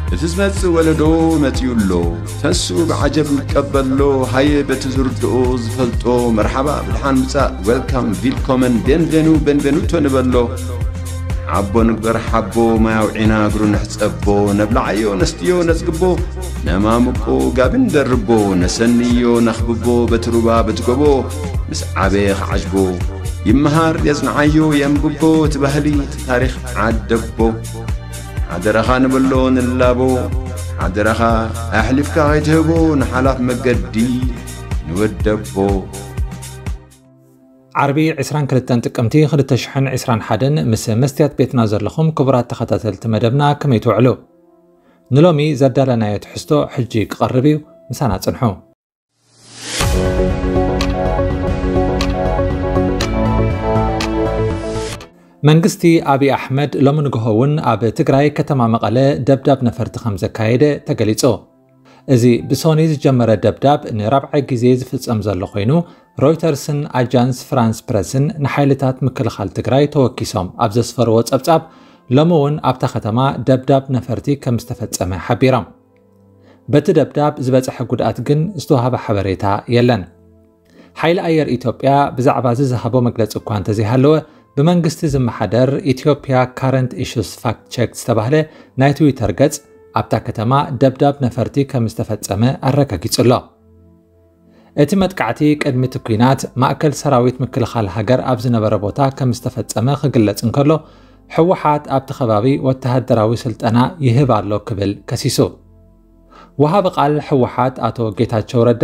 እቲ ዝመጽእ ወለዶ መጺኡ ኣሎ። ተንስኡ ብዓጀብ ንቀበሎ። ሃየ በቲ ዝርድኦ ዝፈልጦ መርሓባ ብድሓን ምጻእ፣ ዌልካም፣ ቪልኮመን፣ ቤንቬኑ፣ ቤንቬኑቶ ንበሎ። ሓቦ ንግበር ሓቦ፣ ማይ ኣውዒና እግሩ ንሕጸቦ። ነብልዓዮ ነስትዮ ነጽግቦ፣ ነማሙቆ ጋቢ ንደርቦ። ነሰንዮ ነኽብቦ በቲ ሩባ በቲ ጎቦ። ምስ ዓበየ ክዓጅቦ ይመሃር የጽንዓዮ የንብቦ። እቲ ባህሊ እቲ ታሪኽ ዓደቦ። ሓደራኻ ንበሎ ንላቦ። ሓደራኻ ኣሕሊፍካ ከይትህቦ ንሓላፍ መገዲ ንወደቦ። ዓርቢ ዕስራን ክልተን ጥቅምቲ ክልተ ሽሕን ዕስራን ሓደን ምስ መስትያት ቤትና ዘለኹም ክቡራት ተኸታተልቲ መደብና ከመይ ትውዕሉ? ንሎሚ ዘዳለናዮ ትሕዝቶ ሕጂ ክቐርብ እዩ፣ ምሳና ጽንሑ። መንግስቲ ኣብይ ኣሕመድ ሎሚ ንግሆ እውን ኣብ ትግራይ ከተማ መቐለ ደብዳብ ነፈርቲ ከም ዘካየደ ተገሊጹ። እዚ ብሶኒ ዝጀመረ ደብዳብ ንራብዓይ ግዜ ዝፍጸም ዘሎ ኮይኑ፣ ሮይተርስን ኣጃንስ ፍራንስ ፕረስን ንሓይልታት ምክልኻል ትግራይ ተወኪሶም ኣብ ዘስፈርዎ ጸብጻብ፣ ሎሚ እውን ኣብታ ከተማ ደብዳብ ነፈርቲ ከም ዝተፈጸመ ሓቢሮም። በቲ ደብዳብ ዝበጸሐ ጉድኣት ግን ዝተዋህበ ሓበሬታ የለን። ሓይሊ ኣየር ኢትዮጵያ ብዛዕባ እዚ ዝሃቦ መግለጺ እኳ እንተዘይሃለወ፣ ብመንግስቲ ዝመሓደር ኢትዮጵያ ካረንት ኢሹስ ፋክት ቸክ ዝተባህለ ናይ ትዊተር ገጽ ኣብታ ከተማ ደብዳብ ነፈርቲ ከም ዝተፈጸመ ኣረጋጊጹ ኣሎ። እቲ መጥቃዕቲ ቅድሚ እቲ ኲናት ማእከል ሰራዊት ምክልኻል ሃገር ኣብ ዝነበረ ቦታ ከም ዝተፈጸመ ክግለጽ እንከሎ፣ ህወሓት ኣብቲ ከባቢ ወተሃደራዊ ስልጠና ይህብ ኣሎ ክብል ከሲሱ። ወሃቢ ቃል ህወሓት ኣቶ ጌታቸው ረዳ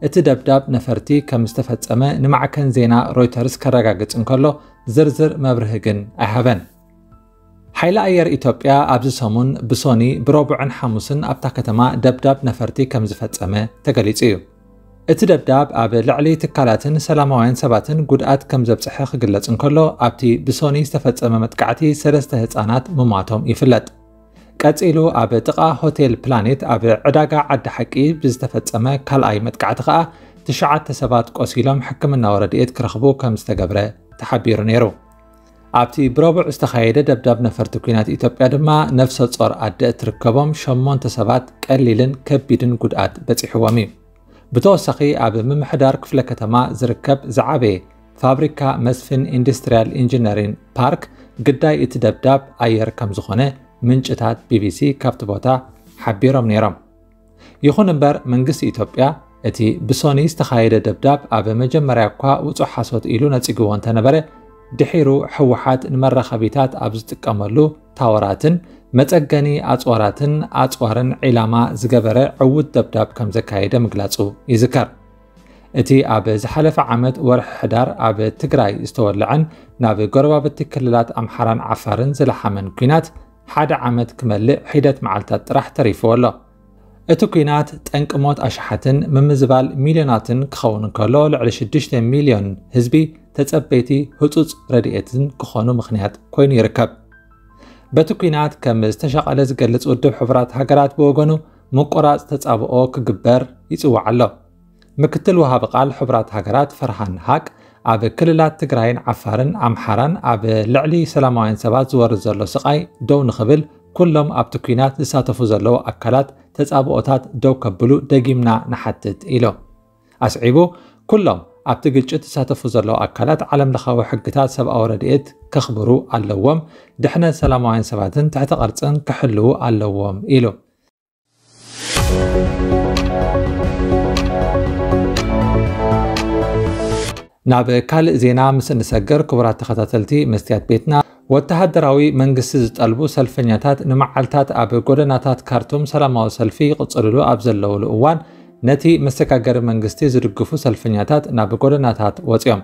እቲ ደብዳብ ነፈርቲ ከም ዝተፈጸመ ንማዕከን ዜና ሮይተርስ ከረጋግጽ እንከሎ፣ ዝርዝር መብርሂ ግን ኣይሃበን። ሓይሊ ኣየር ኢትዮጵያ ኣብዚ ሰሙን ብሶኒ፣ ብረቡዕን ሓሙስን ኣብታ ከተማ ደብዳብ ነፈርቲ ከም ዝፈጸመ ተገሊጹ እዩ። እቲ ደብዳብ ኣብ ልዕሊ ትካላትን ሰላማውያን ሰባትን ጉድኣት ከም ዘብጽሐ ክግለጽ እንከሎ፣ ኣብቲ ብሶኒ ዝተፈጸመ መጥቃዕቲ ሰለስተ ህጻናት ምሟቶም ይፍለጥ። ቀጺሉ ኣብ ጥቓ ሆቴል ፕላኔት ኣብ ዕዳጋ ዓዲ ሓቂ ብዝተፈጸመ ካልኣይ መጥቃዕቲ ከኣ ትሽዓተ ሰባት ቆሲሎም ሕክምናዊ ረድኤት ክረኽቡ ከም ዝተገብረ ተሓቢሩ ነይሩ። ኣብቲ ብረቡዕ ዝተኻየደ ደብዳብ ነፈርቲ ኲናት ኢትዮጵያ ድማ ነፍሰ ጾር ኣደ እትርከቦም ሸሞንተ ሰባት ቀሊልን ከቢድን ጉድኣት በጺሕዎም እዩ። ብተወሳኺ ኣብ ምምሕዳር ክፍለ ከተማ ዝርከብ ዝዓበየ ፋብሪካ መስፍን ኢንዱስትሪያል ኢንጂነሪን ፓርክ ግዳይ እቲ ደብዳብ ኣየር ከም ዝኾነ ምንጭታት ቢቢሲ ካብቲ ቦታ ሓቢሮም ነይሮም። ይኹን እምበር መንግስቲ ኢትዮጵያ እቲ ብሶኒ ዝተኻየደ ደብዳብ ኣብ መጀመርያ እኳ ውጹእ ሓሶት ኢሉ ነጺግዎ እንተነበረ፣ ድሒሩ ህወሓት ንመራኸቢታት ኣብ ዝጥቀመሉ ታወራትን መጸገኒ ኣጽዋራትን ኣጽዋርን ዒላማ ዝገበረ ዕዉት ደብዳብ ከም ዘካየደ ምግላጹ ይዝከር። እቲ ኣብ ዝሓለፈ ዓመት ወርሒ ሕዳር ኣብ ትግራይ ዝተወልዐን ናብ ጎረባብቲ ክልላት ኣምሓራን ዓፋርን ዝለሓመን ኲናት ሓደ ዓመት ክመልእ ሒደት መዓልታት ጥራሕ ተሪፍዎ ኣሎ። እቲ ኲናት ጠንቂ ሞት ኣሽሓትን ምምዝባል ሚልዮናትን ክኸውን እንከሎ፣ ልዕሊ ሽዱሽተ ሚልዮን ህዝቢ ተጸበይቲ ህጹጽ ረድኤትን ክኾኑ ምኽንያት ኮይኑ ይርከብ። በቲ ኲናት ከም ዝተሻቐለ ዝገልጽ ውድብ ሕቡራት ሃገራት ብወገኑ፣ ምቁራጽ ተጻብኦ ክግበር ይጽውዕ ኣሎ። ምክትል ወሃቢ ቃል ሕቡራት ሃገራት ፈርሃን ሃቅ፣ ኣብ ክልላት ትግራይን ዓፋርን ኣምሓራን ኣብ ልዕሊ ሰላማውያን ሰባት ዝወርድ ዘሎ ስቓይ ደው ንኽብል፣ ኩሎም ኣብቲ ኲናት ዝሳተፉ ዘለዉ ኣካላት ተጻብኦታት ደው ከብሉ ደጊምና ንሓትት ኢሉ። ኣስዒቡ፣ ኩሎም ኣብቲ ግጭት ዝሳተፉ ዘለዉ ኣካላት ዓለም ለኻዊ ሕግታት ሰብኣዊ ረድኤት ከኽብሩ ኣለዎም፣ ድሕነት ሰላማውያን ሰባትን ትሕተ ቅርጽን ክሕልዉ ኣለዎም ኢሉ። ናብ ካልእ ዜና ምስ እንሰግር፣ ክቡራት ተኸታተልቲ መስትያት ቤትና፣ ወተሃደራዊ መንግስቲ ዝጠልቡ ሰልፈኛታት ንመዓልታት ኣብ ጎደናታት ካርቱም ሰላማዊ ሰልፊ ይቕጽልሉ ኣብ ዘለውሉ እዋን፣ ነቲ መሰጋገሪ መንግስቲ ዝድግፉ ሰልፈኛታት ናብ ጎደናታት ወጺኦም።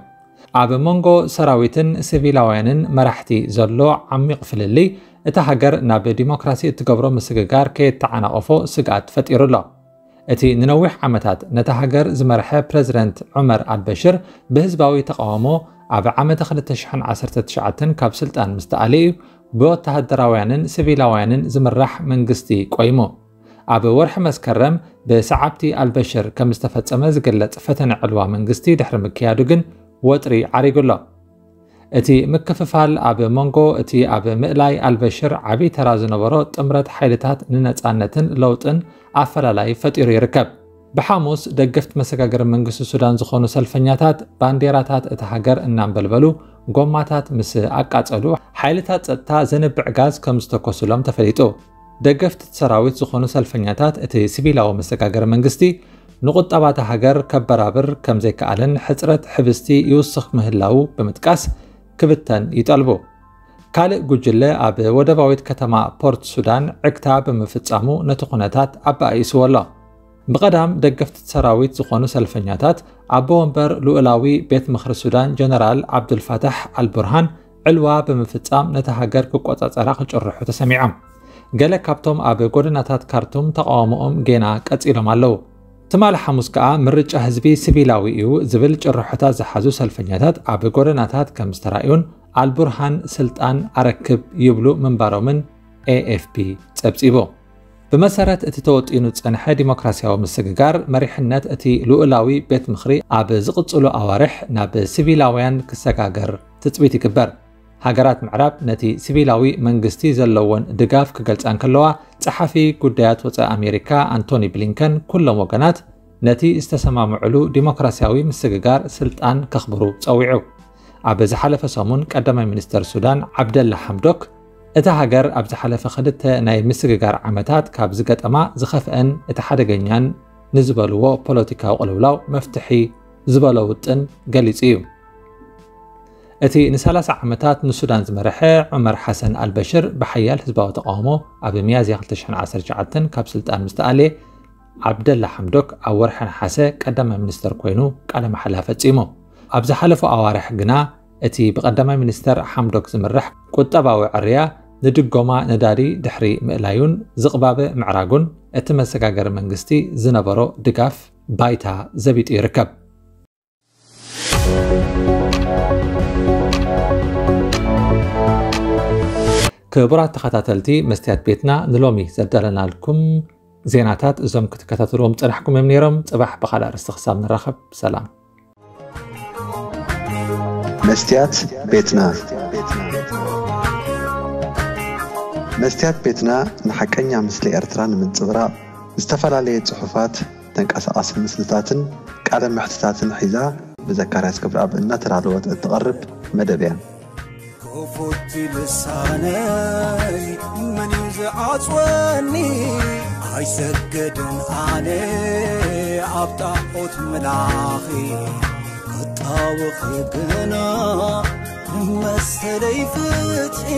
ኣብ መንጎ ሰራዊትን ሲቪላውያንን መራሕቲ ዘሎ ዓሚቕ ፍልልይ፣ እታ ሃገር ናብ ዲሞክራሲ እትገብሮ ምስግጋር ከየተዓናቐፎ ስግኣት ፈጢሩ ኣሎ። እቲ ንነዊሕ ዓመታት ነታ ሃገር ዝመርሐ ፕረዚደንት ዑመር ኣልበሽር ብህዝባዊ ተቓውሞ ኣብ ዓመተ ክልተ ሽሕን ዓሰርተ ትሽዓተን ካብ ስልጣን ምስ ተኣለ እዩ ብወተሃደራውያንን ሲቪላውያንን ዝምራሕ መንግስቲ ቆይሙ። ኣብ ወርሒ መስከረም ብሰዓብቲ ኣልበሽር ከም ዝተፈጸመ ዝግለጽ ፈተነ ዕልዋ መንግስቲ ድሕሪ ምክያዱ ግን ወጥሪ ዓሪጉ ኣሎ። እቲ ምክፍፋል ኣብ መንጎ እቲ ኣብ ምእላይ ኣልበሽር ዓቢ ተራ ዝነበሮ ጥምረት ሓይልታት ንነጻነትን ለውጥን ኣፈላላይ ፈጢሩ ይርከብ። ብሓሙስ ደገፍቲ መሰጋገሪ መንግስቲ ሱዳን ዝኾኑ ሰልፈኛታት ባንዴራታት እታ ሃገር እናንበልበሉ ጎማታት ምስ ኣቃጸሉ፣ ሓይልታት ጸጥታ ዘንብዕ ጋዝ ከም ዝተኮሱሎም ተፈሊጡ። ደገፍቲ ሰራዊት ዝኾኑ ሰልፈኛታት እቲ ሲቪላዊ መሰጋገሪ መንግስቲ ንቁጠባ እታ ሃገር ከበራብር ከም ዘይከኣለን ሕጽረት ሕብስቲ ይውስኽ ምህላዉ ብምጥቃስ ክብተን ይጠልቡ። ካልእ ጉጅለ ኣብ ወደባዊት ከተማ ፖርት ሱዳን ዕግታ ብምፍጻሙ ነቲ ኩነታት ኣባኣኢስዎ ኣሎ። ብቐዳም ደገፍቲ ሰራዊት ዝኾኑ ሰልፈኛታት ኣቦ ወንበር ልኡላዊ ቤት ምኽሪ ሱዳን ጀነራል ዓብዱልፋታሕ ኣልቡርሃን ዕልዋ ብምፍጻም ነታ ሃገር ክቆጻጸራ ክጭርሑ ተሰሚዖም። ገለ ካብቶም ኣብ ጎደናታት ካርቱም ተቓውሞኦም ጌና ቀጺሎም ኣለዉ። ትማሊ ሓሙስ ከኣ ምርጫ ህዝቢ ሲቪላዊ እዩ ዝብል ጭርሖታት ዝሓዙ ሰልፈኛታት ኣብ ጎደናታት ከም ዝተራእዩን ኣልቡርሃን ስልጣን ኣረክብ ይብሉ ምንባሮምን ኤ ኤፍ ፒ ጸብጺቡ። ብመሰረት እቲ ተወጢኑ ዝጸንሐ ዲሞክራሲያዊ ምስግጋር፣ መሪሕነት እቲ ልኡላዊ ቤት ምኽሪ ኣብ ዝቕጽሉ ኣዋርሕ ናብ ሲቪላውያን ክሰጋገር ትጽቢት ይግበር። ሃገራት ምዕራብ ነቲ ሲቪላዊ መንግስቲ ዘለወን ድጋፍ ክገልጻ እንከለዋ፣ ጸሓፊ ጉዳያት ወጻኢ ኣሜሪካ ኣንቶኒ ብሊንከን ኩሎም ወገናት ነቲ ዝተሰማምዕሉ ዲሞክራሲያዊ ምስግጋር ስልጣን ከኽብሩ ጸዊዑ። ኣብ ዝሓለፈ ሰሙን ቀዳማይ ሚኒስተር ሱዳን ዓብደላ ሓምዶክ፣ እታ ሃገር ኣብ ዝሓለፈ ክልተ ናይ ምስግጋር ዓመታት ካብ ዝገጠማ ዝኸፍአን እቲ ሓደገኛን ንዝበልዎ ፖለቲካዊ ቅልውላው መፍትሒ ዝበሎ ውጥን ገሊጹ እዩ። እቲ ን30 ዓመታት ንሱዳን ዝመርሐ ዑመር ሓሰን ኣልበሽር ብሓያል ህዝባዊ ተቃውሞ ኣብ ሚያዝያ ክልተ ሽሕን ዓሰርተ ትሽዓተን ካብ ስልጣን ምስ ተኣልየ፣ ዓብደላ ሓምዶክ ኣብ ወርሒ ነሓሰ ቀዳማይ ሚኒስተር ኮይኑ ቃለ መሓላ ፈጺሙ። ኣብ ዝሓለፉ ኣዋርሕ ግና እቲ ብቀዳማይ ሚኒስተር ሓምዶክ ዝምራሕ ቁጠባዊ ዕርያ ንድጎማ ነዳዲ ድሕሪ ምእላዩን ዝቕባበ ምዕራጉን እቲ መሰጋገሪ መንግስቲ ዝነበሮ ድጋፍ ባይታ ዘቢጡ ይርከብ። ክቡራት ተኸታተልቲ መስትያት ቤትና፣ ንሎሚ ዘዳለናልኩም ዜናታት እዞም ክትከታተልዎም ጸናሕኩም እዮም ነይሮም። ጽባሕ ብኻልእ ኣርእስቲ ክሳብ ንራኸብ፣ ሰላም። መስትያት ቤትና። መስትያት ቤትና ንሓቀኛ ምስሊ ኤርትራ ንምንጽብራቕ ዝተፈላለየ ጽሑፋት፣ ተንቀሳቓሲ ምስልታትን ቃለ መሕትታትን ሒዛ ብዘካርያስ ገብረኣብ እናተዳለወት እትቐርብ መደብ እያ። ክፉት ልሳነይ መን እዩ ዝዓጽወኒ? ኣይሰግድን ኣነ ኣብ ጣዖት ምላኺ፣ ክጣወኺ ግና መሰለይ ፍትሒ።